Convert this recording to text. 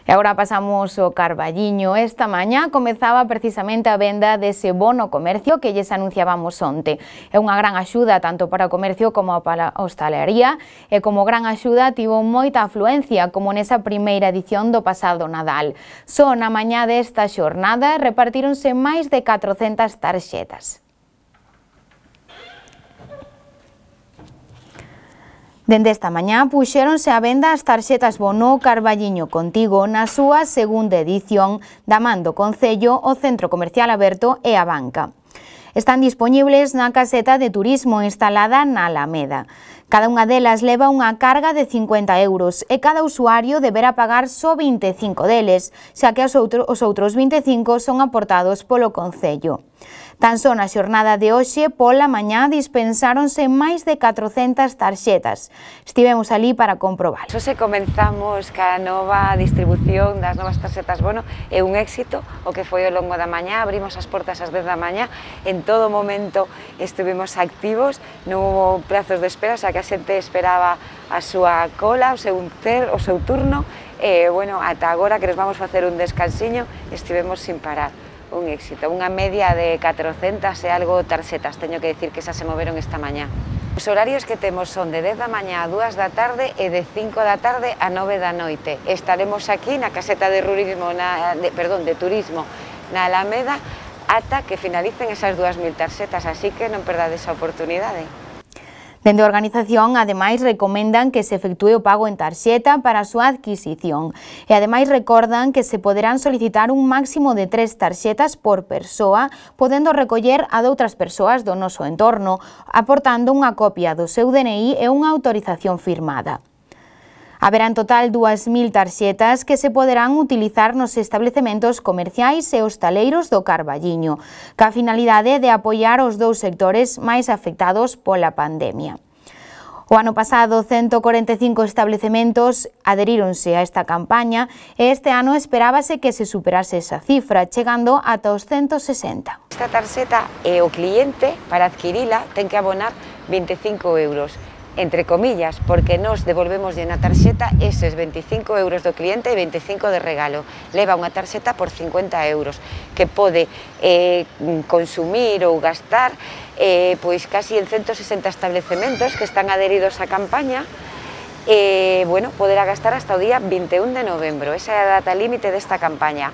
E agora pasamos ao Carballiño. Esta mañá comezaba precisamente a venda dese bono comercio que lles anunciábamos onte. É unha gran axuda tanto para o comercio como para a hostalería e como gran axuda tivo moita afluencia como nesa primeira edición do pasado Nadal. Só na mañá desta xornada repartíronse máis de 400 tarxetas. Dende esta mañá puxéronse a venda as tarxetas bono Carballiño Contigo na súa segunda edición da man do Concello, o Centro Comercial Aberto e a Banca. Están dispoñibles na caseta de turismo instalada na Alameda. Cada unha delas leva unha carga de 50 euros e cada usuario deberá pagar só 25 deles, xa que os outros 25 son aportados polo Concello. Tan só na xornada de hoxe, pola mañá, dispensáronse máis de 400 tarxetas. Estivemos ali para comprobar. Hoxe comenzamos ca nova distribución das novas tarxetas bono, é un éxito o que foi ao longo da mañá, abrimos as portas ás 10 da mañá, en todo momento estuvimos activos, non hubo plazos de espera, o sea que a xente esperaba a súa cola, o seu turno, e, bueno, ata agora que nos vamos facer un descansiño, estivemos sin parar. Un éxito, unha media de 400 e algo tarxetas, teño que dicir que xa se moveron esta mañá. Os horarios que temos son de 10 da mañá a 2 da tarde e de 5 da tarde a 9 da noite. Estaremos aquí na caseta de turismo na Alameda ata que finalicen esas 2000 tarxetas, así que non perdades a oportunidade. Dende a organización, ademais, recomendan que se efectúe o pago en tarxeta para a súa adquisición e, ademais, recordan que se poderán solicitar un máximo de 3 tarxetas por persoa, podendo recoller a doutras persoas do noso entorno, aportando unha copia do seu DNI e unha autorización firmada. Haberá en total 2000 tarxetas que se poderán utilizar nos establecementos comerciais e hostaleiros do Carballiño, ca finalidade de apoiar os dous sectores máis afectados pola pandemia. O ano pasado, 145 establecementos adheríronse a esta campaña e este ano esperábase que se superase esa cifra, chegando ata os 160. Esta tarxeta, o cliente, para adquirila, ten que abonar 25 euros. Entre comillas, porque nos devolvemos na tarxeta eses 25 euros do cliente e 25 de regalo. Leva unha tarxeta por 50 euros, que pode consumir ou gastar pois casi en 160 establecementos que están adheridos á campaña, bueno, poderá gastar hasta o día 21 de novembro, esa é a data límite desta campaña.